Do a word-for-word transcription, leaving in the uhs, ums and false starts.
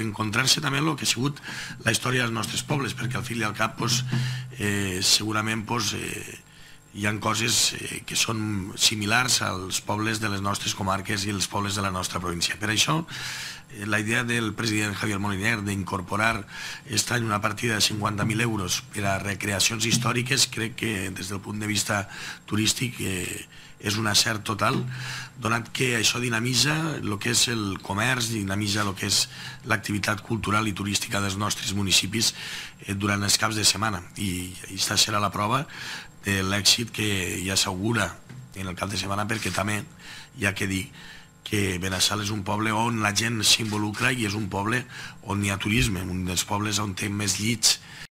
encontrar-se també en el que ha sigut la història dels nostres pobles, perquè al fi i al cap segurament hi ha coses que són similars als pobles de les nostres comarques i els pobles de la nostra província. Per això, la idea del president Javier Moliner d'incorporar aquest any una partida de cinquanta mil euros per a recreacions històriques crec que des del punt de vista turístic és un encert total, donat que això dinamitza el que és el comerç, dinamitza el que és l'activitat cultural i turística dels nostres municipis durant els caps de setmana. I aquesta serà la prova de l'èxit que ja s'augura en el cap de setmana, perquè també hi ha que dir que Benassal és un poble on la gent s'involucra i és un poble on hi ha turisme, un dels pobles on té més llits